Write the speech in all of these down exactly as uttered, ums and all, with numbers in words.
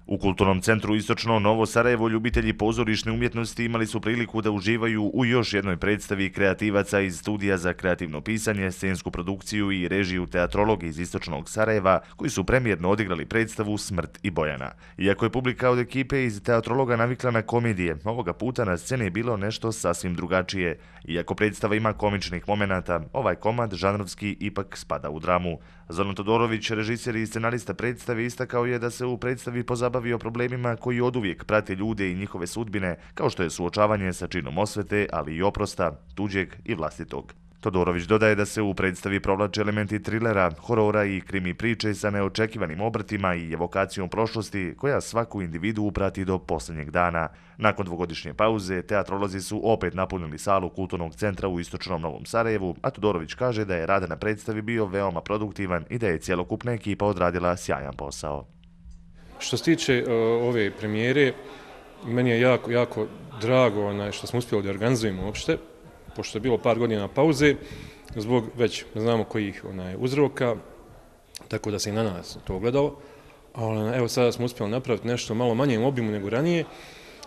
U Kulturnom centru Istočno Novo Sarajevo ljubitelji pozorišne umjetnosti imali su priliku da uživaju u još jednoj predstavi kreativaca iz Studija za kreativno pisanje, scensku produkciju i režiju teatrologa iz Istočnog Sarajeva, koji su premijerno odigrali predstavu Smrt i Bojana. Iako je publika od ekipe iz teatrologa navikla na komedije, ovoga puta na sceni je bilo nešto sasvim drugačije. Iako predstava ima komičnih momenata, ovaj komad žanrovski ipak spada u dramu. Zoran Todorović, režiser i scenarista predstave, istakao je da se u predstavi pozabavio problemima koji oduvijek prate ljude i njihove sudbine, kao što je suočavanje sa činom osvete, ali i oprosta, tuđeg i vlastitog. Todorović dodaje da se u predstavi provlače elementi trilera, horora i krimi priče sa neočekivanim obrtima i evokacijom prošlosti koja svaku individu prati do posljednjeg dana. Nakon dvogodišnje pauze, teatrolozi su opet napunili salu Kulturnog centra u Istočnom Novom Sarajevu, a Todorović kaže da je rad na predstavi bio veoma produktivan i da je cjelokupna ekipa odradila sjajan posao. Što se tiče uh, ove premijere, meni je jako, jako drago onaj, što smo uspjeli da organizujemo uopšte, pošto je bilo par godina pauze, zbog već znamo kojih onaj, uzroka, tako da se i na nas to ogledalo. Ali evo sada smo uspjeli napraviti nešto malo manjem obimu nego ranije,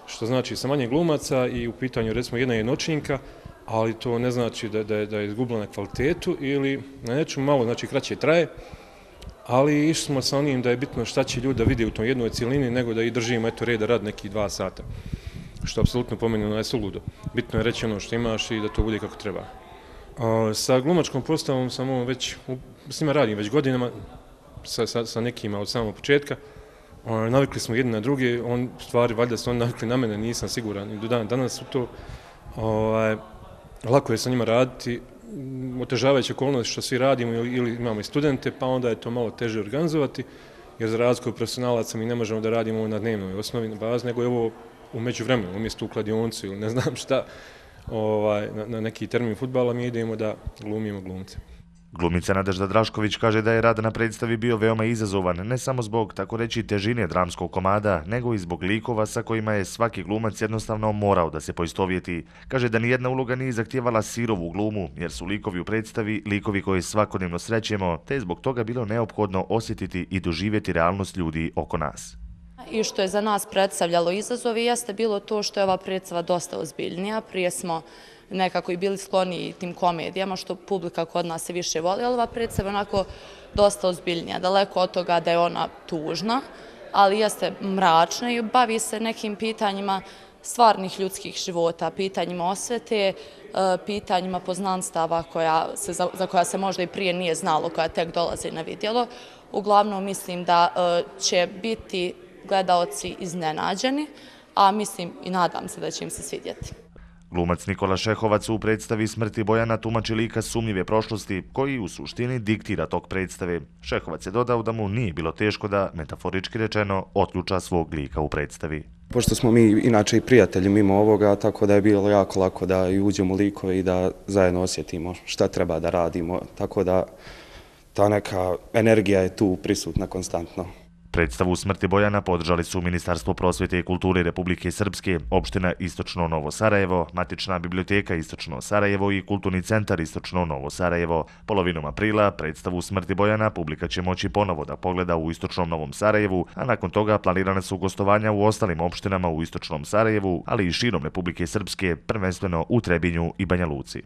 što znači sa manje glumaca i u pitanju recimo jedna jednočinka, ali to ne znači da, da, da je izgubila na kvalitetu ili na nečemu malo, znači kraće traje, ali išli smo sa onim da je bitno šta će ljudi da vide u tom jednoj cijelini, nego da i držimo eto reda rad nekih dva sata. Što apsolutno po meni ono je suludo. Bitno je reći ono što imaš i da to bude kako treba. A, sa glumačkom postavom sam ovo već, s njima radim već godinama, sa, sa, sa nekima od samog početka. A, navikli smo jedni na druge, on, stvari valjda su oni navikli na mene, nisam siguran i do dan danas su to. A, lako je sa njima raditi, otežavajuće okolnosti što svi radimo ili imamo i studente, pa onda je to malo teže organizovati, jer za razliku od profesionalaca mi ne možemo da radimo na dnevnoj osnovi, na bazi, nego je ovo u međuvremenu, umjesto u kladioncu ili ne znam šta, ovaj, na, na neki termin fudbala mi idemo da glumimo glumce. Glumica Nadežda Drašković kaže da je rad na predstavi bio veoma izazovan, ne samo zbog, tako reći, težine dramskog komada, nego i zbog likova sa kojima je svaki glumac jednostavno morao da se poistovjeti. Kaže da nijedna uloga nije zahtijevala sirovu glumu, jer su likovi u predstavi likovi koje svakodnevno srećemo, te je zbog toga bilo neophodno osjetiti i doživjeti realnost ljudi oko nas. I što je za nas predstavljalo izazovi jeste bilo to što je ova predstava dosta ozbiljnija. Prije smo nekako i bili skloni tim komedijama, što publika kod nas se više voli, ali ova predstava je onako dosta ozbiljnija. Daleko od toga da je ona tužna, ali jeste mračna i bavi se nekim pitanjima stvarnih ljudskih života, pitanjima osvete, pitanjima poznanstava koja se, za koja se možda i prije nije znalo, koja tek dolaze na vidjelo. Uglavnom mislim da će biti gledaoci iznenađeni, a mislim i nadam se da će im se svidjeti. Glumac Nikola Šehovac u predstavi Smrt i Bojana tumači lika sumnjive prošlosti, koji u suštini diktira tok predstave. Šehovac je dodao da mu nije bilo teško da, metaforički rečeno, otključa svog lika u predstavi. Pošto smo mi inače i prijatelji mimo ovoga, tako da je bilo jako lako da i uđemo u likove i da zajedno osjetimo šta treba da radimo, tako da ta neka energija je tu prisutna konstantno. Predstavu Smrti Bojana podržali su Ministarstvo prosvjete i kulture Republike Srpske, opština Istočno Novo Sarajevo, Matična biblioteka Istočno Sarajevo i Kulturni centar Istočno Novo Sarajevo. Polovinom aprila predstavu Smrti Bojana publika će moći ponovo da pogleda u Istočnom Novom Sarajevu, a nakon toga planirane su gostovanja u ostalim opštinama u Istočnom Sarajevu, ali i širom Republike Srpske, prvenstveno u Trebinju i Banja Luci.